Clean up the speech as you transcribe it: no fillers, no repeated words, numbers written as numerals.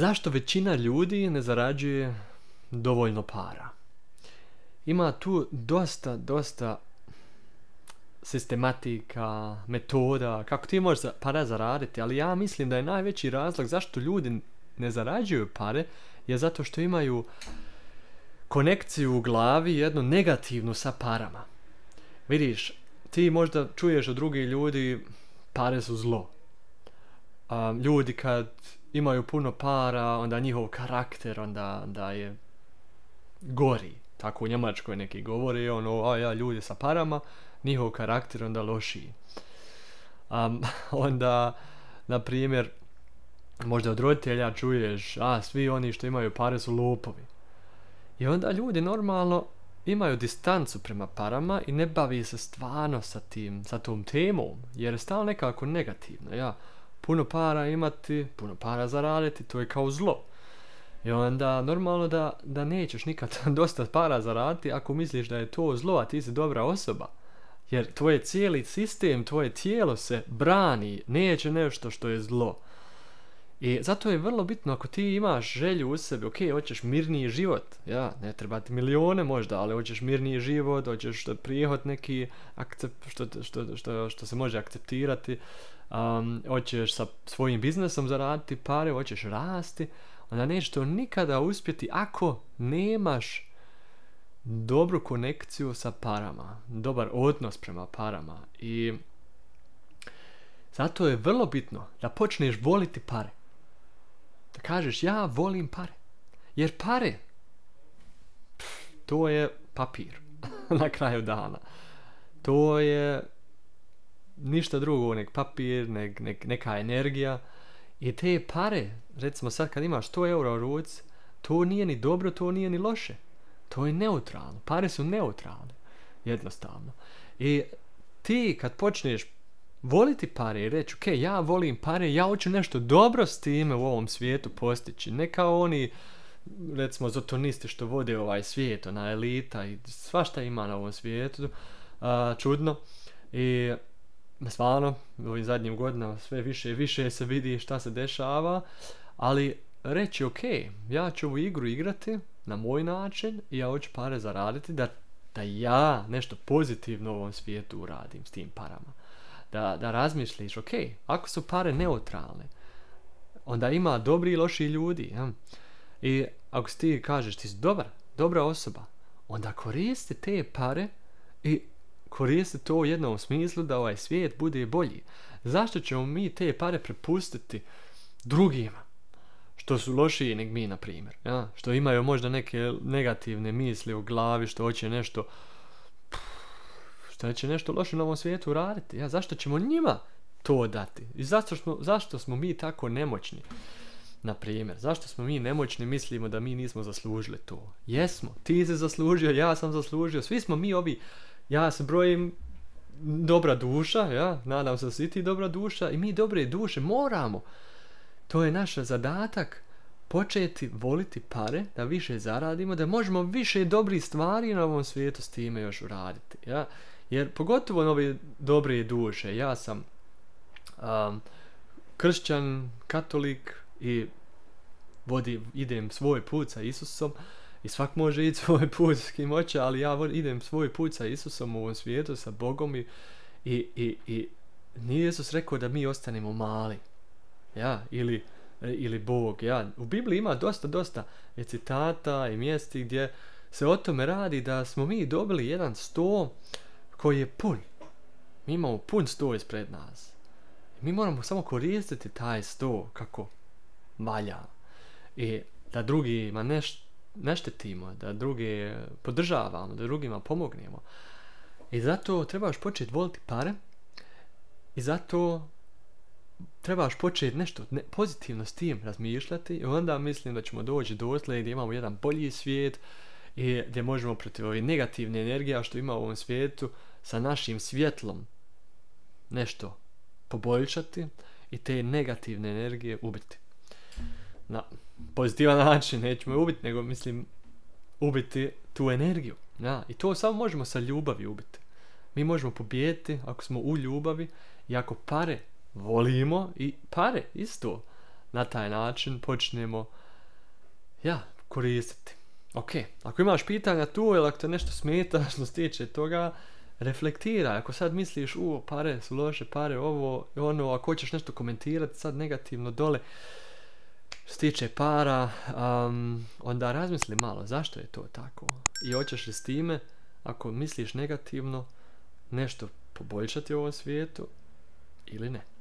Zašto većina ljudi ne zarađuje dovoljno para? Ima tu dosta sistematika, metoda, kako ti možeš para zaraditi, ali ja mislim da je najveći razlog zašto ljudi ne zarađuju pare je zato što imaju konekciju u glavi, jednu negativnu sa parama. Vidiš, ti možda čuješ od drugih ljudi pare su zlo. Ljudi kad imaju puno para, onda njihov karakter onda je gori. Tako u Njemačkoj neki govore, ljudi sa parama, njihov karakter onda lošiji. Onda, na primjer, možda od roditelja čuješ, svi oni što imaju pare su lopovi. I onda ljudi normalno imaju distancu prema parama i ne bavi se stvarno sa tom temom, jer je stalno nekako negativno. Puno para imati, puno para zaraditi, to je kao zlo. I onda normalno da nećeš nikad dosta para zaraditi ako misliš da je to zlo, a ti si dobra osoba. Jer tvoj cijeli sistem, tvoje tijelo se brani, neće nešto što je zlo. I zato je vrlo bitno ako ti imaš želju u sebi, hoćeš mirniji život, ne treba ti milijone možda, ali hoćeš mirniji život, hoćeš prihod neki što se može akceptirati, hoćeš sa svojim biznesom zaraditi pare, hoćeš rasti, onda nećeš to nikada uspjeti ako nemaš dobru konekciju sa parama, dobar odnos prema parama. I zato je vrlo bitno da počneš voliti pare. Da kažeš ja volim pare. Jer pare, to je papir na kraju dana. To je ništa drugo, nek papir, neka energija. I te pare, recimo sad kad imaš 100 eura u ruci, to nije ni dobro, to nije ni loše. To je neutralno. Pare su neutralne. Jednostavno. I ti kad počneš voliti pare i reći, ja volim pare, ja hoću nešto dobro s time u ovom svijetu postići. Ne kao oni, recimo, zotonisti što vode ovaj svijet, ona elita i svašta ima na ovom svijetu. Čudno. I stvarno, u ovim zadnjim godinama sve više i više se vidi šta se dešava, ali reći, ja ću ovu igru igrati na moj način i ja hoću pare zaraditi da ja nešto pozitivno u ovom svijetu uradim s tim parama. Da razmišljiš, ako su pare neutralne, onda ima dobri i loši ljudi. I ako ti kažeš ti si dobra osoba, onda koristi te pare i koristi to u jednom smislu da ovaj svijet bude bolji. Zašto ćemo mi te pare prepustiti drugima što su lošiji nego mi, na primjer, što imaju možda neke negativne misli u glavi, što hoće nešto loše na ovom svijetu raditi. Zašto ćemo njima to dati? I zašto smo mi tako nemoćni? Na primjer, zašto smo mi nemoćni, mislimo da mi nismo zaslužili to? Jesmo, ti si zaslužio, ja sam zaslužio, svi smo mi ovi, ja se brojim dobra duša, nadam se da si ti dobra duša i mi dobre duše moramo. To je naš zadatak, početi voliti pare, da više zaradimo, da možemo više dobrih stvari na ovom svijetu s time još uraditi. Jer pogotovo nove dobre duše, ja sam kršćan, katolik i idem svoj put sa Isusom i svak može ići svoj put s kim hoće, ali ja idem svoj put sa Isusom u ovom svijetu, sa Bogom i nije Isus rekao da mi ostanemo mali. Ili Bog. U Bibliji ima dosta citata i mjesti gdje se o tome radi da smo mi dobili jedan sto koji je pun. Mi imamo pun sto ispred nas. Mi moramo samo koristiti taj sto kako valja. I da drugima ne štetimo, da druge podržavamo, da drugima pomognemo. I zato trebaš početi voliti pare i zato trebaš početi nešto pozitivno s tim razmišljati i onda mislim da ćemo doći dotle gdje imamo jedan bolji svijet i gdje možemo protiv ove negativne energije što ima u ovom svijetu sa našim svjetlom nešto poboljšati i te negativne energije ubiti. Na pozitivan način, nećemo je ubiti, nego mislim ubiti tu energiju. I to samo možemo sa ljubavi ubiti. Mi možemo pobijediti ako smo u ljubavi i ako pare volimo i pare isto na taj način počnemo ja, koristiti. Ok, ako imaš pitanja tu ili ako te nešto smeta što se tiče toga, reflektiraj. Ako sad misliš, pare su loše, pare ovo i ono, ako hoćeš nešto komentirati sad negativno dole, što se tiče para, onda razmisli malo zašto je to tako. I hoćeš li s time, ako misliš negativno, nešto poboljšati u ovom svijetu ili ne.